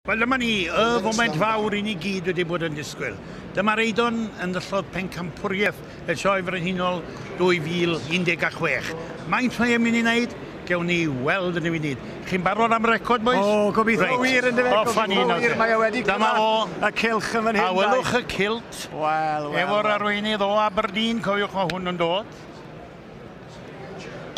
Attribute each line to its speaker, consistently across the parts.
Speaker 1: Wel, dyma ni, y foment fawr i ni gyd wedi bod yn disgwyl. Dyma'r Eidon yn ddyllodd pencampwriaeth y Sioe Frenhinol 2016. Maint mae e'n mynd i wneud? Gewn ni weld yn y funud. Chi'n barod am record, boys?
Speaker 2: O, gobeithio
Speaker 1: Reit.
Speaker 2: wir yn dyfe,
Speaker 1: Off â ni
Speaker 2: gobeithio
Speaker 1: nawr
Speaker 2: wir.
Speaker 1: te.
Speaker 2: Mae e wedi
Speaker 1: Dyma
Speaker 2: cyrraedd
Speaker 1: fo.
Speaker 2: y cylch yn fan hyn.
Speaker 1: A welwch y kilt.
Speaker 2: Wel, wel.
Speaker 1: Efo'r arweinydd o Aberdeen, cofiwch mae hwn yn dod.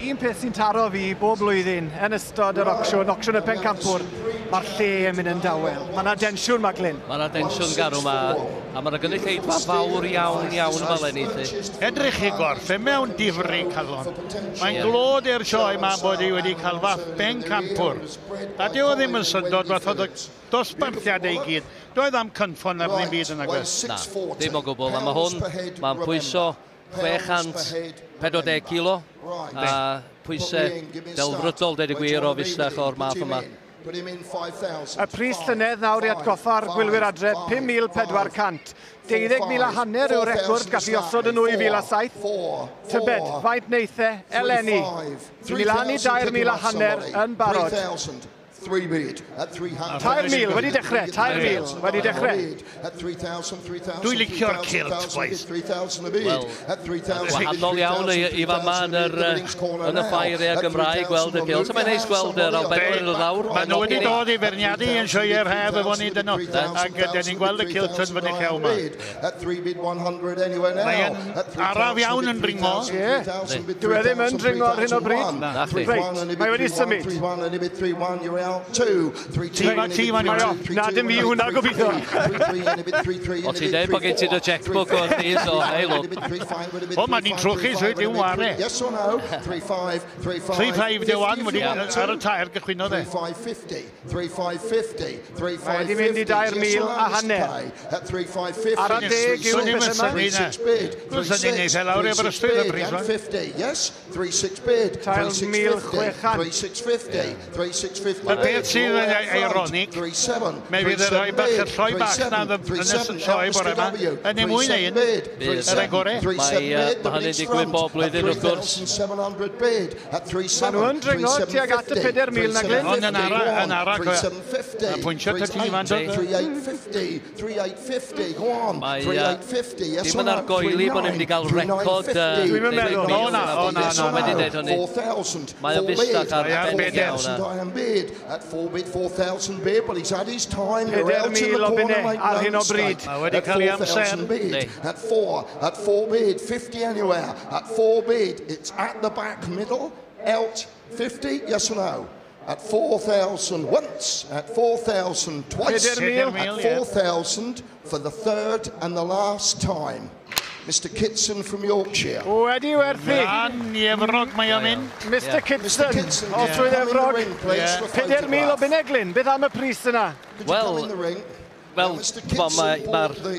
Speaker 2: Un peth sy'n taro fi bob blwyddyn yn ystod yr ocsiwn, ocsiwn y pencampwr, mae'r lle yn mynd yn dawel. Mae yna densiwn, Maglyn.
Speaker 3: Mae yna densiwn garw ma, a mae yna gynulleidfa fawr iawn iawn yma eleni. Lly.
Speaker 1: Edrych i gorff, e mewn difri calon. Mae'n glod i'r sioe yma bod hi wedi cael fath bencampwr. A dyw o ddim yn syndod fath oedd y dosbarthiadau i gyd. Doedd am cynffon ar ddim byd yn agos.
Speaker 3: Na, ddim o gwbl. A mae hwn, mae'n pwyso 640 kilo, a pwysau delfrydol, deud y gwir, o fusach o'r math yma.
Speaker 2: Y pris llynedd nawr i atgoffa'r gwylwyr adre, 5,400. 12,000 a hanner yw'r record gallu osod yn 2007. Tybed, faint neith e eleni? Dwi'n mynd lan i 3,000 a hanner yn barod. 3,000 wedi dechrau, 3,000 wedi dechrau.
Speaker 1: Dwi'n licio'r kilt, boys.
Speaker 3: Wel, wahanol iawn i fama yn y ffair e Gymraeg gweld y kilt. Mae'n neis gweld yr Albanwyr yn dod lawr.
Speaker 1: Maen nhw wedi dod i feirniadu yn sioeau'r haf efo ni dyn nhw. Ac dyn ni'n gweld y kilt yn fyny llew yma. Mae'n araf iawn yn dringo.
Speaker 2: Ie. Dyw e ddim yn dringo ar hyn o bryd.
Speaker 3: Na chdi.
Speaker 2: Reit, mae wedi symud.
Speaker 1: Tîm
Speaker 2: Mae o. Na, dim fi hwnna gobeithio.
Speaker 3: O, ti'n deud bod gen ti dy checkbook o di, so hei look.
Speaker 1: O, mae ni'n trwchu, so dim ware. 3-5 de 1 wedi ar y tair gychwynnodd e.
Speaker 2: Mae wedi mynd i 3,500 a hanner. Ar y deg yw'r
Speaker 1: Swn i'm yn
Speaker 2: peth yma.
Speaker 1: synnu na. Swn i'n neud e lawr i Aberystwyth y pris yma.
Speaker 2: 3,600.
Speaker 1: Y peth sydd yn ironic, mae fydd y rhai bach, y lloi bach na yn y sioe bore yma, yn ei mwy na un, yr ei gore.
Speaker 3: Mae hynny'n digwydd bob blwyddyn wrth gwrs.
Speaker 2: Maen nhw yn dringo tuag at y 4,000 na Glyn.
Speaker 1: Ond yn ara, yn ara, cofio. Mae pwyntio ty ti fan dod.
Speaker 3: Mae dim yn argoeli bod ni'n mynd i gael record.
Speaker 2: Dwi'm yn meddwl.
Speaker 1: O na, o na, na.
Speaker 3: Wedi dweud hynny. Mae o'n fusach
Speaker 1: Mae ar
Speaker 3: arbennig
Speaker 1: bedair.
Speaker 3: iawn.
Speaker 2: 4,000 o bunnau ar hyn o bryd.
Speaker 1: Mae wedi cael ei amser.
Speaker 3: Yndi.
Speaker 4: At 4 bid, 50 anywhere. At 4 bid, it's at the back middle, out 50, yes or no? At 4,000 once, at 4,000 twice,
Speaker 2: 4,000.
Speaker 4: at 4,000 for the third and the last time. Mr. Kitson from Yorkshire.
Speaker 2: Wedi werthu.
Speaker 1: Lan i Efrog mae o'n mynd.
Speaker 2: Mr
Speaker 4: Mr.
Speaker 2: Kitson
Speaker 4: Kitson,
Speaker 2: o
Speaker 4: could you
Speaker 2: Swydd
Speaker 4: come in the
Speaker 2: Efrog.
Speaker 4: ring, please, for
Speaker 2: 4,000 o
Speaker 4: photograph?
Speaker 2: bunnau Glyn. Beth am y pris yna?
Speaker 4: Could you
Speaker 3: Wel,
Speaker 4: come in the ring?
Speaker 3: Wel,
Speaker 4: Now, Mr.
Speaker 3: t'mo,
Speaker 4: Kitson
Speaker 3: mae'r ma
Speaker 4: bought the,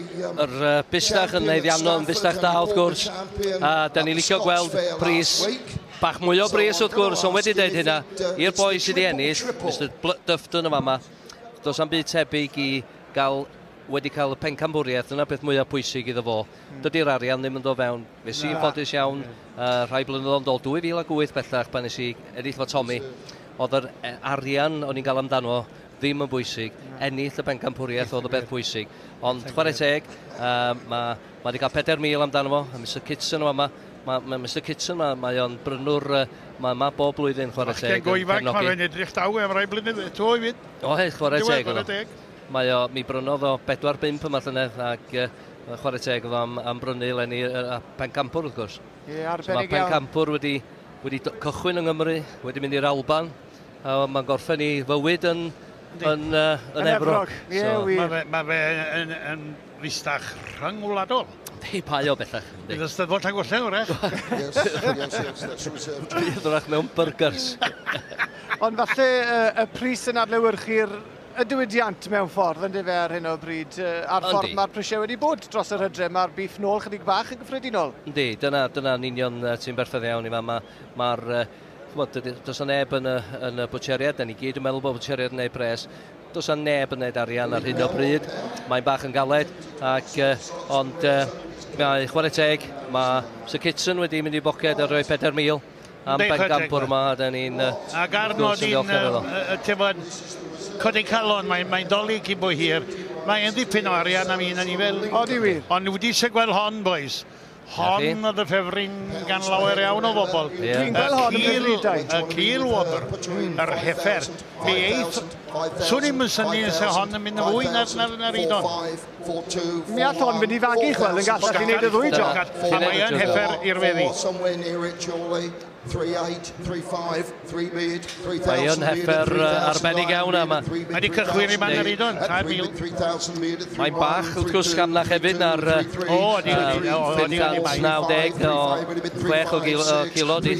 Speaker 3: yr busnach yn
Speaker 4: champion at
Speaker 3: haeddiannol yn fusnach da wrth
Speaker 4: Stafford and he bought
Speaker 3: gwrs.
Speaker 4: the champion
Speaker 3: A da
Speaker 4: at
Speaker 3: ni'n
Speaker 4: the
Speaker 3: licio
Speaker 4: Scots
Speaker 3: gweld
Speaker 4: Fair last
Speaker 3: pris
Speaker 4: week.
Speaker 3: bach mwy o
Speaker 4: So
Speaker 3: bris
Speaker 4: I'm
Speaker 3: wrth gwrs,
Speaker 4: gonna
Speaker 3: ond wedi
Speaker 4: ask
Speaker 3: deud
Speaker 4: him
Speaker 3: hynna,
Speaker 4: if it,
Speaker 3: i'r
Speaker 4: it's
Speaker 3: boi
Speaker 4: the
Speaker 3: sydd wedi
Speaker 4: triple,
Speaker 3: ennill,
Speaker 4: triple.
Speaker 3: Mr Dufton yma yma, does am byd tebyg i gael wedi cael y pencampwriaeth, dyna beth mwyaf pwysig iddo fo. Dydy'r arian ddim yn dod fewn. Fe sy'n ffodus iawn, rhai blynyddoedd yn dod, 2008 bellach, pan nes i ennill fo Tommy, oedd yr arian o'n i'n gael amdano ddim yn bwysig. Ennill y pencampwriaeth oedd y beth pwysig. Ond chwarae teg, mae wedi cael 4,000 amdano fo, a Mr Kitson yma, ma Mr Kitson, mae o'n brynwr, mae yma bob blwyddyn chwarae
Speaker 1: Bachgen
Speaker 3: teg.
Speaker 1: go
Speaker 3: yn
Speaker 1: ifanc, mae
Speaker 3: cefnogi.
Speaker 1: fe'n edrych daw am rai blynyddoedd. To i fyd.
Speaker 3: O hei, chwarae
Speaker 1: Diwedd,
Speaker 3: teg oedd
Speaker 1: chwarae
Speaker 3: o.
Speaker 1: teg.
Speaker 3: Mae o, mi brynodd o 4-5 yma llynedd ac chwarae teg oedd o am brynu eleni a pencampwr wrth gwrs.
Speaker 2: Ie,
Speaker 3: So mae
Speaker 2: arbennig iawn.
Speaker 3: pencampwr wedi cychwyn yng Nghymru, wedi mynd i'r Alban, a mae'n gorffen i fywyd yn
Speaker 2: Yn
Speaker 3: Efrog.
Speaker 2: Efrog. Ie,
Speaker 3: So,
Speaker 2: wir.
Speaker 1: Mae fe yn fustach rhyngwladol.
Speaker 3: Yndi, pai o bellach. Yndi.
Speaker 1: Bydd y Steddfod Llangollen, wrach.
Speaker 4: Yes, that's reserved.
Speaker 3: Bydd wrach mewn burgers.
Speaker 2: Ond falle y pris yn adlewyrchu'r y diwydiant mewn ffordd, yn dyfe ar hyn o bryd. A'r ffordd
Speaker 3: Yndi.
Speaker 2: mae'r prisiau wedi bod dros yr hydre, mae'r beef nôl chydig bach yn gyffredinol.
Speaker 3: Yndi, dyna'n union ti'n berffaith iawn i fa. Mae'r, ch'mod, does 'na neb yn y bwtsieriad, da ni gyd yn meddwl bod bwtsieriad yn neud pres. Does 'na neb yn neud arian ar hyn o bryd. Mae'n bach yn galed, ac, ond mae chwarae teg, mae Sir Kitson wedi mynd i boced a rhoi 4,000 am
Speaker 1: Yndi, chwarae teg,
Speaker 3: bencampwr yma, a da ni'n
Speaker 1: Ac ar
Speaker 3: wrth gwrs yn
Speaker 1: nodyn,
Speaker 3: ddiolchgar iddo.
Speaker 1: tefod, codi calon, mae'n doli cyn bo hir. Mae'n ddipyn o arian am un anifail.
Speaker 2: Odi wir.
Speaker 1: Ond wedi eisiau gweld hon, boys. Hon oedd y ffefryn gan lawer iawn o bobl.
Speaker 2: Dwi'n gweld hon yn ffefrynnau.
Speaker 1: Y cil wobr, yr heffer. Mi eith, swn i'm yn synnu os hon yn mynd yn fwy na'r Eidon.
Speaker 2: Mi all hon fynd i fagu, chwel, yn gall chi wneud y ddwy job.
Speaker 1: A mae yn heffer i'r weddi.
Speaker 4: 3 8, 3 5, 3 bid, 3,000.
Speaker 3: Mae yn heffer arbennig iawn yma.
Speaker 1: Mae wedi cychwyn i man yr Eidon, 3,000.
Speaker 3: Mae'n bach wrth gwrs gamlach hefyd na'r 590 o 6 o kilo di.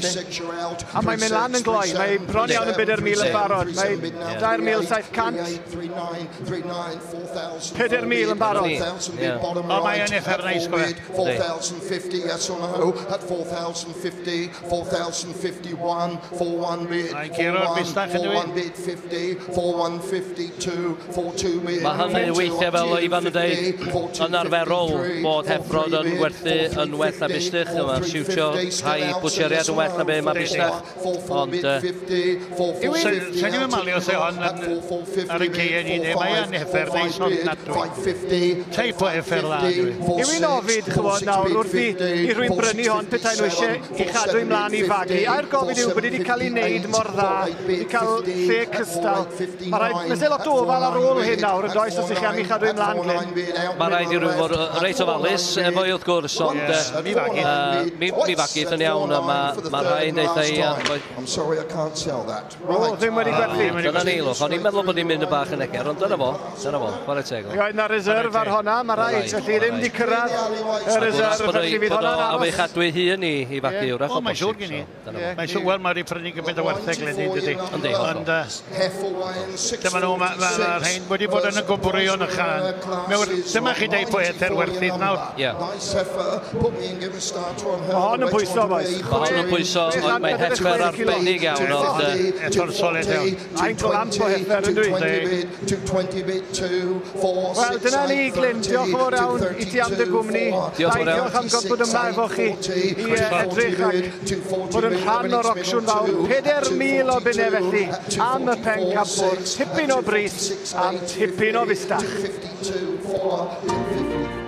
Speaker 2: A mae'n mynd lan yn gloi, mae bron iawn yn 4,000 yn barod. Mae 2,700. 4,000 yn barod.
Speaker 1: O, mae yn heffer neis gofio.
Speaker 4: 4,050, yes or no, at 4,050, 4,051, 4-1 bid, 4-1, 4-1 bid 50, 4-1-52, 4-2 bid.
Speaker 3: Mae hynny weithiau fel Ifan yn dweud, yn arferol bod heffrod yn gwerthu yn well na bustych, mae'n siwtio rhai bwtsieriad yn well na be mae bustach, ond...
Speaker 1: Sa'n i'n malio se hon ar y ceien i neu, mae yn heffer neis ond nadwy. Teip o heffer dda, dwi.
Speaker 2: Yw i'n ofid, chymod, nawr, wrth i rhywun brynu hon petai nhw eisiau i chadw i mlaen i fagu. A'r gofid yw bod wedi cael ei wneud mor dda, wedi cael lle cystal. Mae rhaid, mae lot o ofal ar ôl hyn nawr, yn does, os ych chi am i chadw i mlaen, Glyn?
Speaker 3: Mae rhaid i rhywun fod reit ofalus efo i wrth gwrs, ond mi fagith yn iawn, a mae rhaid eitha i...
Speaker 4: I'm sorry, I can't sell that.
Speaker 2: O, ddim wedi gwerthu.
Speaker 3: Dyna ni, lwch. O'n i'n meddwl bod ni'n mynd y bach yn eger, ond dyna fo, chwarae teg.
Speaker 2: Roedd na reserve ar honna, mae rhaid, felly ddim wedi cyrraedd y reserve, felly fydd hwnna'n aros.
Speaker 3: A fe chadw ei hun i fagu wrach o
Speaker 1: O, mae'n siŵr
Speaker 3: bosib.
Speaker 1: gen i. Mae'n siŵr, wel, mae wedi prynu gymaint o wertheg leni, dydy.
Speaker 3: Yndi, hollol.
Speaker 1: Ond dyma nhw, mae rhain wedi bod yn y gwbwrion ychan. Dyma chi deud pwy ether werthydd nawr.
Speaker 3: Ie.
Speaker 2: Mae hon yn pwyso, boys.
Speaker 3: Mae hon yn pwyso, mae'n heffer arbennig iawn, ond...
Speaker 1: Eto'r solid iawn.
Speaker 2: Mae'n glamp o heffer, yn dwi. Wel, dyna ni, Glyn. Diolch yn fawr iawn i ti am dy gwmni.
Speaker 3: Diolch yn fawr iawn.
Speaker 2: Diolch am bod yma efo chi i edrych ac bod yn rhan o'r ocsiwn fawr. 4,000 o bunnau felly am y pencampwr. Tipyn o bris am tipyn o fustach.
Speaker 4: 252, 4,